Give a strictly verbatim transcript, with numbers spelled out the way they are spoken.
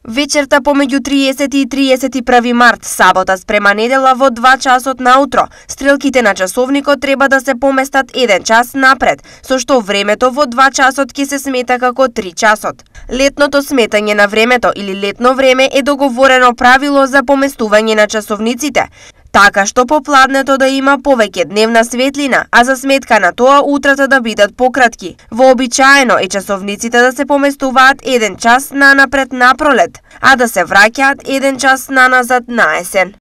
Вечерта помеѓу триесети и триесет и први март, сабота спрема недела во два часот наутро, стрелките на часовникот треба да се поместат еден час напред, со што времето во два часот ќе се смета како три часот. Летното сметање на времето или летно време е договорено правило за поместување на часовниците, така што попладнето да има повеќе дневна светлина, а за сметка на тоа утрата да бидат пократки. Вообичаено е часовниците да се поместуваат еден час нанапред напролет, а да се враќаат еден час наназад на есен.